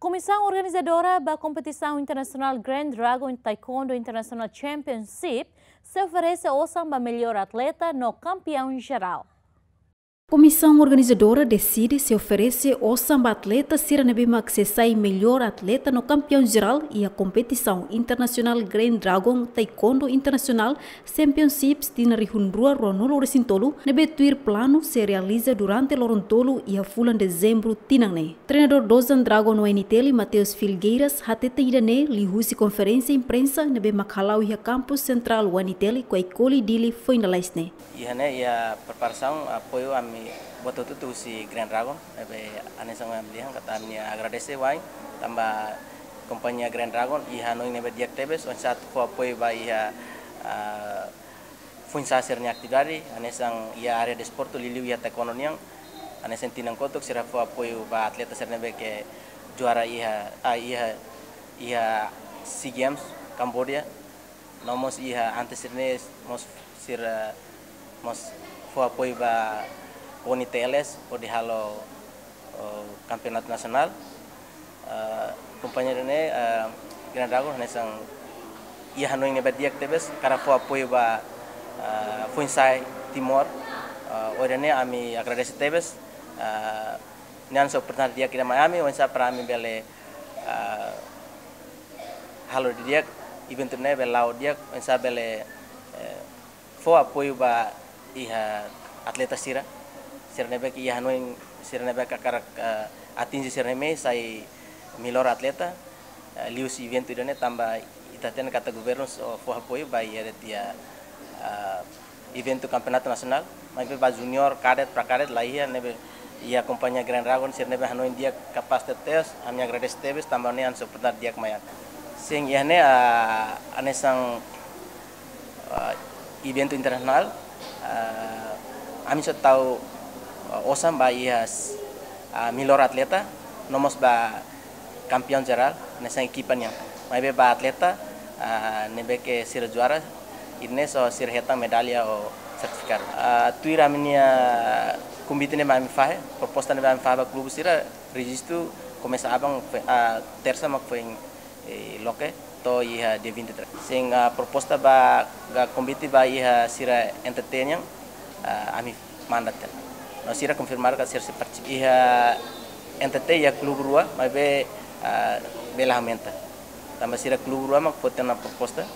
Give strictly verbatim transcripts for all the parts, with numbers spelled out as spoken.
Komisaun organizadora ba kompetisaun internasionál Grand Dragon Taekwondo International Championship sei oferese osan ba mellór atleta no kampeaun jerál. Komisaun organizadora deside sei oferese osan ba atleta sira ne'ebé mak sei sai mellór atleta no kampeaun jerál iha kompetisaun internasionál Grand Dragon Taekwondo International Championships tinan rihun rua ruanulu resin tolu, ne'ebé tuir planu sei realiza durante loron tolu iha fulan Dezembru tinan ne'e. Treinadór Dozan Dragon U N T L, Mateus Filgueiras, hateten ida-ne'e liuhusi konferénsia imprensa ne'ebé mak hala'o iha kampus sentrál U N T L, Kuaikoli, Dili, foin lalais ne'e. Iha ne'e iha preparasaun, apoiu ami buat hotu-hotu husi Grand Dragon, ne'ebé hanesan ami dehan katak ami agradese wa'in, tanba kompañia Grand Dragon iha hanoin ne'ebé di'ak tebes, oinsá atu fó apoiu ba iha, ah, foin-sa'e sira-nia atividade, hanesan iha área desportu, liuliu iha taekwondo nian, hanesan tinan kotuk sira fó apoiu ba atleta sira ne'ebé ke juara iha, ah, iha, iha SEA Games, Cambodia, no mós iha antes sira-ne'e mós sira mós fó apoiu ba U N T L hodi halo, oh, kampeonatu nasionál. Eh, kompañia ida-ne'e, eh, Grand Dragon hanesan iha hanoin ne'ebé di'ak tebes, hakarak fó apoiu ba, eh, foin-sa'e Timor. Eh, hodi nune'e ami agradese tebes, eh, nia hanesan oportunidade di'ak ida mai ami, oinsá para ami bele, eh, halo didi'ak, eventu ne'e bele la'o di'ak, oinsá bele, eh, fó apoiu ba iha atleta sira, sira ne'ebé ke iha hanoin, sira ne'ebé ke hakarak, eh, atinje sira-nia mehi sai mellór atleta, eh, liuhusi eventu ida-ne'e tanba ita hatene katak governu só fó apoiu ba iha de'it iha, eh, eventu kampeonatu nasionál, maibé ba juniór, kadét, pra-kadét la iha, ne'ebé iha kompañia Grand Dragon sira ne'ebé hanoin di'ak, kapás tebes, ami agradese tebes tanba ne'e hanesan oportunidade di'ak mai ami. Sin, iha ne'e, ah, hanesan, ah, eventu internasionál, ah, ami só tau, ah, osan ba iha, ah, mellór atleta, no mós ba kampeaun jerál, hanesan ekipa nian. Maibé ba atleta, ah, ne'ebé ke sira juara, ida-ne'e só sira hetan medalla ou sertifikadu. Ah, tuir ami-nia konvite ne'ebé ami fahe, proposta ne'ebé ami fahe ba klube sira, rejistu komesa aban fe-, ah, tersa mak foin, eh, loke, to'o iha dia vinte e três. Sin, ah, proposta ba, ka konvite ba iha sira N T T nian, ah, ami manda tiha ona. No sira konfirmadu katak sira sei partisipa. Iha N T T iha klube rua, maibé, ah, bele aumenta. Tanba sira klube rua mak foti ona proposta.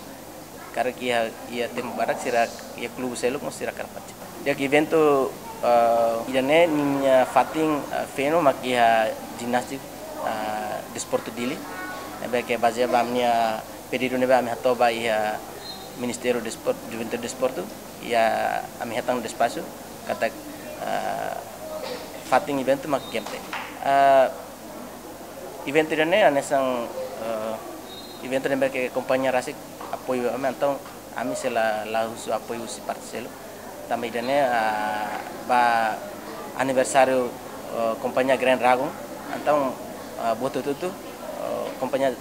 Karik iha, iha tempu badak sira iha klube seluk mós sira hakarak partisipa. Di'ak, eventu, eh, ida-ne'e ninia fatin, eh, feno mak iha jimnástika, eh, Desportu Dili. Ne'ebé ke bazeia ba ami-nia pedidu ne'ebé ami hato'o ba iha Ministériu Despor-, Juventude Desportu, iha ami hetan despaxu katak, eh, fatin eventu mak game tech. Eh, eventu ida-ne'e hanesan, eh, eventu ne'ebé ke kompañia rasik apoiu ami, entaun ami sei la, la husu apoiu husi parte seluk. Tanba ida-ne'e, ah, ba aniversáriu, eh, kompañia Grand Dragon, entaun, ah, buat hotu-hotu, eh, kompañia,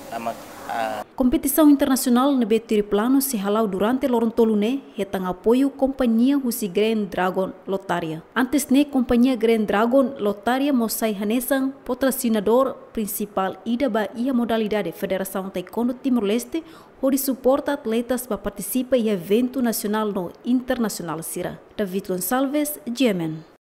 ah, mak, ah, Kompetisaun internasionál ne'ebé tuir planu sei hala'o durante loron tolu ne'e hetan apoiu kompañia husi Grand Dragon Lotaria. Antes ne'e kompañia Grand Dragon Lotaria mós sai hanesan patrosinadór prinsipál ida ba iha modalidade Federasaun Taekwondo Timor-Leste, hodi suporta atletas ba partisipa iha eventu nasionál no internasionál sira. David Gonçalves, G M N.